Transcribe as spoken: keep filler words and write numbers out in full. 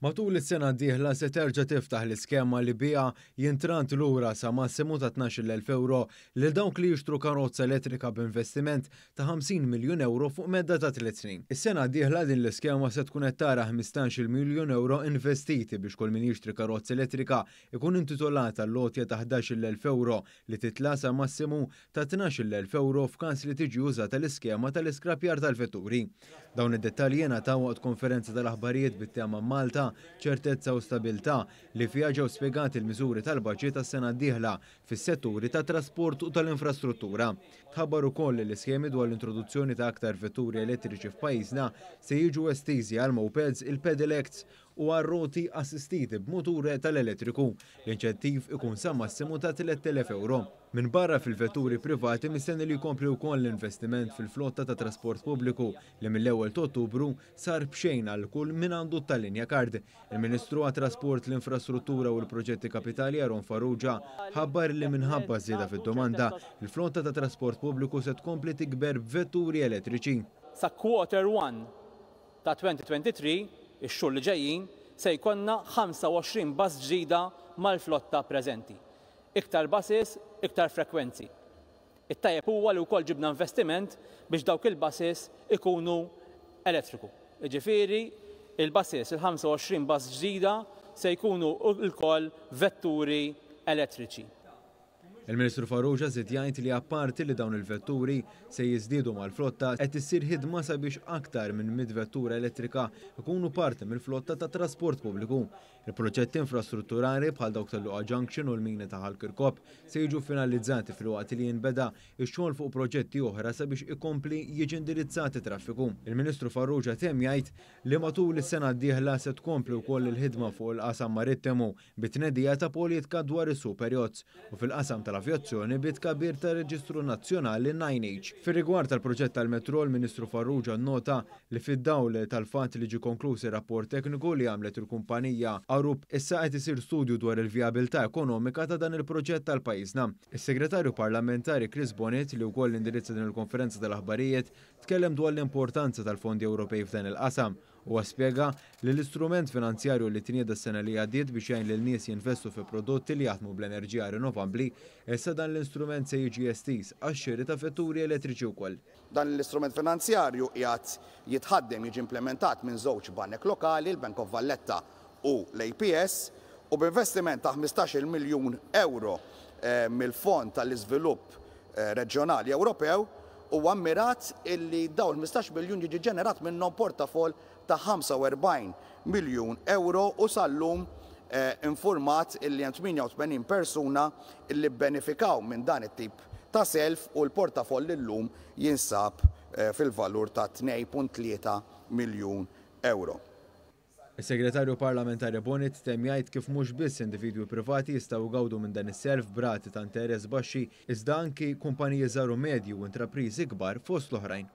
Matul is-sena d-dieħla se terġa' tiftaħ l-iskema li biha jintrant lura sa massimu ta' tnax-il elf euro lil dawk li jixtru karozza elettrika b'investiment ta' ħamsin miljun euro fuq medda ta' tliet snin. Is-sena d-dieħla din l-iskema se tkun qed tara ħmistax-il miljun euro investiti biex kull min jixtri karozza elettrika ikun intitolat għall-għotja ta' ħdax-il elf euro li titla' sa massimu ta' tnax-il elf euro f'każ li tiġi użata l-iskema tal-iskrapjar tal-vetturi. Dawn id-dettalji ngħataw waqt konferenza tal-aħbarijiet bit-tema "Malta, ċertezza u stabilità", li fiha ġew spjegati l-miżuri tal-baġit tas-sena d-dieħla fis-setturi tat trasport u tal-infrastruttura. Tħabbar ukoll li l-iskemi dwar l-introduzzjoni ta' aktar vetturi elettriċi f'pajjiżna se jiġu estiżi għal mopeds, il-pedelecs u għar-roti assistiti b'mutur tal-elettriku. L-inċentiv ikun sa massimu ta' tlett elef euro. Minn barra fil-vetturi privati, mistenni li jkompli wkoll l-investiment fil-flotta ta' trasport pubbliku li mill-ewwel ta' Ottubru sar b'xejn għal kull min għandu tal-linja card. Il-Ministru għat-Trasport, l-Infrastruttura u l-Proġetti Kapitali Aaron Farrugia ħabbar li minħabba żieda fid-domanda, il-flotta ta' trasport pubbliku se tkompli tikber b'vetturi elettriċi. Sa quarter one ta' elfejn u tnejn u għoxrin, ix-xhur li ġejjin, se jkollna ħamsa u għoxrin bus ġdida mal-flotta preżenti. Iktar buses, iktar frekwenzi. It-tajjeb huwa li wkoll ġibna investiment biex dawk il-buses ikunu elettriku. Jiġifieri, il-buses, il-ħamsa u għoxrin bus ġdida se jkunu lkoll vetturi elettriċi. Il-Ministru Farrugia żied jgħid li apparti li dawn il-vetturi se jiżdiedu mal-flotta, qed issir ħidma sabiex aktar minn mitt vettura elettrika ikunu parti mill-flotta ta' trasport pubbliku. Il-proġetti infrastrutturali bħal dawk tal-Luqa Junction u l-mini ta' Ħal Kirkop se jiġu finalizzati filwaqt li jinbeda x-xogħol fuq proġetti oħra sabiex ikompli jiġi indirizzati traffiku. Il-Ministru Farrugia temm jgħid li matul is-sena d-dieħla se tkompli wkoll il-ħidma fuq il-qasam marittimu bit-tnedija ta' politika dwar is-super yachts u fil-qasam tal-avjazzjoni bit-tkabbir ta' Reġistru Nazzjonali nine H. Fir-rigward tal-proġett tal-metro, il-Ministru Farrugia nota li fid-dawl tal-fatt li ġi konkluż ir-rapport tekniku li għamlet il-kumpanija Arup, issa qed isir studju dwar il-vijabilità ekonomika ta' dan il-proġett tal-pajjiżna. Is-Segretarju Parlamentari Chris Bonett, li wkoll indirizza din il-konferenza tal-aħbarijiet, tkellem dwar l-importanza tal-fondi Ewropej f'dan il-qasam u spjega li l-istrument finanzjarju li tnieda s-sena li għaddiet biex jgħin lil nies jinvestu fi prodotti li jaħdmu bl-enerġija rinnovabbli, issa dan l-istrument se jiġi estiż għax-xiri ta' vetturi elettriċi wkoll. Dan l-istrument finanzjarju qiegħed jitħaddem, jiġi implementat minn żewġ banek lokali, il-Bank of Valletta u l-A P S, u b'investiment ta' ħmistax-il miljun euro eh, mill-Fond tal-Iżvilupp eh, Reġjonali Ewropew, huwa mmirat illi dawn ħmistax miljun jiġi ġenerat minnhom portafol ta' ħamsa u erbgħin miljun euro u sal-lum eh, informat illi hemm tmienja u tmenin persuna illi benefikaw minn dan it-tip ta' self u l-portafoll illum jinsab eh, fil-valur ta' tnejn punt tlieta miljun euro. Is-Segretarju Parlamentari Bonett temm jgħid kif mhux biss individwi privati jistgħu jgawdu minn dan is-self b'rati ta' interess baxxi, iżda anki kumpaniji żgħar u medji u intrapriżi kbar fost l-oħrajn.